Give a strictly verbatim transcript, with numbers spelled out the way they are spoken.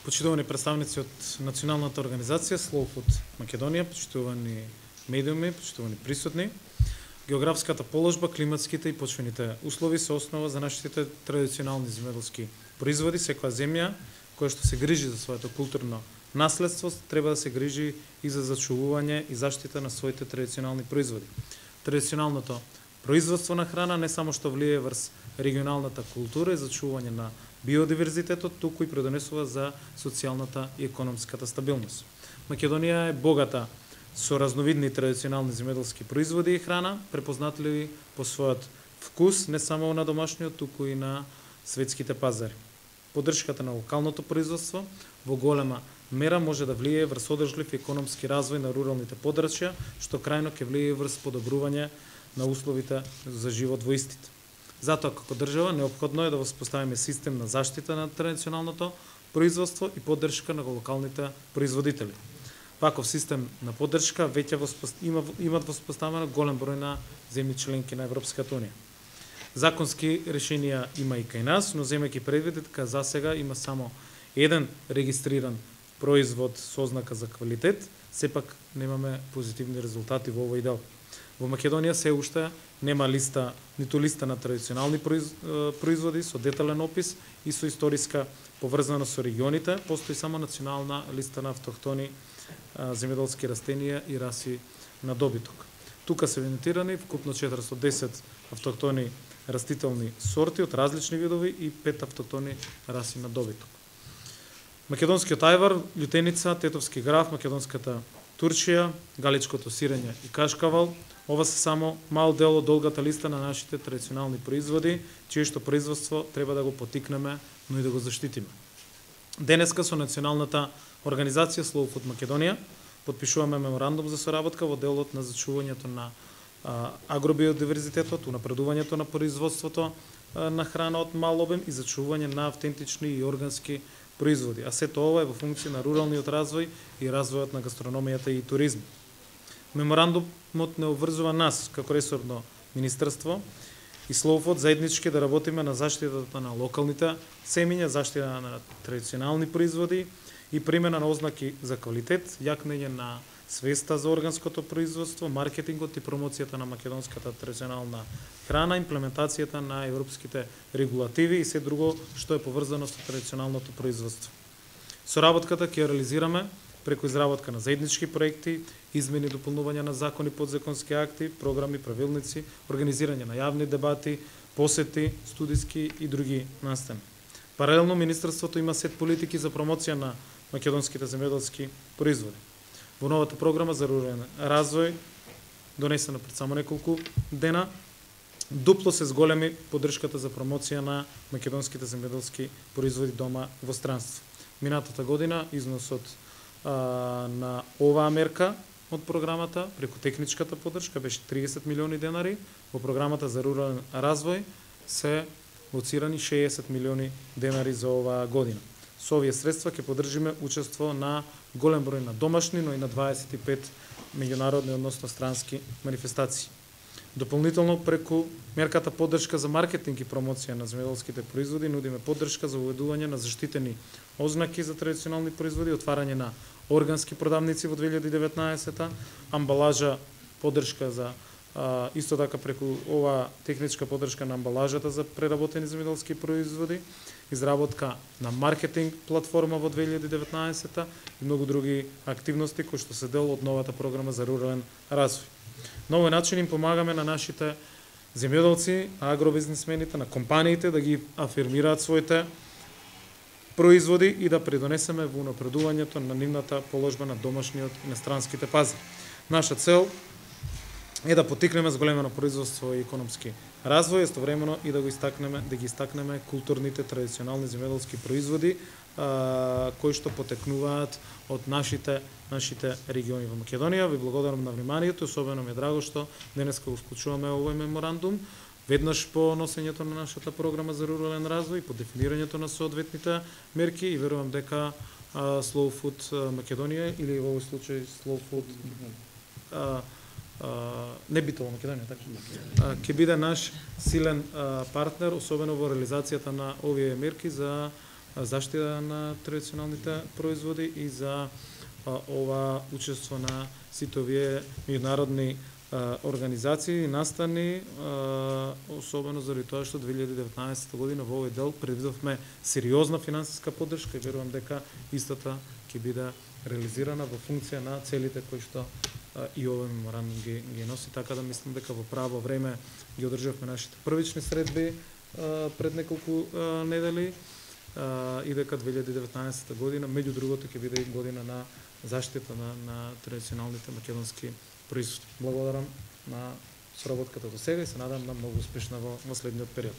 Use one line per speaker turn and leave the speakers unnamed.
почитувани представници од националната организација Slow Food Македонија, почитувани медиуми, почитувани присутни. Географската положба, климатските и почвените услови се основа за нашите традиционални земјоделски производи. Секоја земја која што се грижи за своето културно наследство треба да се грижи и за зачувување и заштита на своите традиционални производи. Традиционалното производство на храна не само што влијае врз регионалната култура и зачувување на биодиверзитетот, туку и предонесува за социјалната и економската стабилност. Македонија е богата со разновидни традиционални земјоделски производи и храна, препознатливи по својот вкус не само на домашниот, туку и на светските пазари. Поддршката на локалното производство во голема мера може да влијае врз одржлив економски развој на руралните подрачја, што крајно ќе влијае врз подобрување на условите за живот во истите. Затоа, како држава, неопходно е да воспоставиме систем на заштита на традиционалното производство и поддршка на локалните производители. Ваков систем на поддршка веќе има, имат воспоставено голем број на земји членки на Европската унија. Законски решенија има и кај нас, но земејќи предвид дека засега има само еден регистриран производ со ознака за квалитет, сепак немаме позитивни резултати во овој дел. Во Македонија се уште нема листа, ниту листа на традиционални производи со детален опис и со историска поврзаност со регионите, постои само национална листа на автохтони земјоделски растенија и раси на добиток. Тука се евидентирани вкупно четиристотини и десет автохтони растителни сорти од различни видови и пет автохтони раси на добиток. Македонскиот ајвар, љутеница, тетовски граф, македонската турчија, галичкото сирење и кашкавал, ова се само мал дел од долгата листа на нашите традиционални производи, чие што производство треба да го потикнеме, но и да го заштитиме. Денеска со националната организација Slow Food Македонија потпишуваме меморандум за соработка во делот на зачувањето на агробиодиверзитетот, унапредувањето на производството на храна од мал обем и зачување на автентични и органски производи, а сето ова е во функција на руралниот развој и развојот на гастрономијата и туризмот. Меморандумот не обврзува нас како ресорно министерство и Slow Food заеднички да работиме на заштитата на локалните семиња, заштита на традиционални производи и примена на ознаки за квалитет, јакнење на свеста за органското производство, маркетингот и промоцијата на македонската традиционална храна, имплементацијата на европските регулативи и се друго што е поврзано со традиционалното производство. Соработката ќе реализираме преку изработка на заеднички проекти, измени и дополнување на закони, подзаконски акти, програми, правилници, организирање на јавни дебати, посети, студиски и други настани. Паралелно, Министерството има сет политики за промоција на македонските земјоделски производи. Во новата програма за рурален развој, донесена пред само неколку дена, дупло се зголеми поддршката за промоција на македонските земјоделски производи дома во странство. Минатата година износот а, на оваа мерка од програмата преку техничката поддршка беше триесет милиони денари, во програмата за рурален развој се лоцирани шеесет милиони денари за оваа година. Со овие средства ќе поддржиме учество на голем број на домашни, но и на дваесет и пет меѓународни, односно странски манифестации. Дополнително преку мерката поддршка за маркетинг и промоција на земјоделските производи нудиме поддршка за уведување на заштитени ознаки за традиционални производи, отварање на органски продавници во две илјади и деветнаесета, амбалажа поддршка за а, исто така преку ова техничка поддршка на амбалажата за преработени земјоделски производи, изработка на маркетинг платформа во две илјади и деветнаесета и многу други активности кои што се дел од новата програма за рурален развој. На овој начин им помагаме на нашите земјоделци, на агробизнисмените, на компаниите да ги афирмираат своите производи и да придонесеме во унапредувањето на нивната положба на домашниот и на странските пазари. Наша цел е да потикнеме зголемено производство и економски развој, истовремено и да го истакнеме, да ги истакнеме културните традиционални земјоделски производи а, кои што потекнуваат од нашите нашите региони во Македонија. Ви благодарам на вниманието, особено ми е драго што денеска го склучуваме овој меморандум, веднаш по носењето на нашата програма за рурален развој, по дефинирањето на соодветните мерки и верувам дека а, Slow Food Македонија или во овој случај Slow Food а, а, не битово Македонија, така ќе биде наш силен а, партнер, особено во реализацијата на овие мерки за заштита на традиционалните производи и за ова учество на сите овие меѓународни организации и настани, особено заради тоа што две илјади и деветнаесетта година во овој дел предвидовме сериозна финансиска поддршка и верувам дека истата ќе биде реализирана во функција на целите кои што и овој меморандум ги, ги носи, така да мислам дека во право време ги одржавме нашите првични средби пред неколку недели и дека две илјади и деветнаесетта година меѓу другото ќе биде и година на заштита на, на традиционалните македонски производи. Благодарам на соработката до сега и се надам на многу успешна во, во следниот период.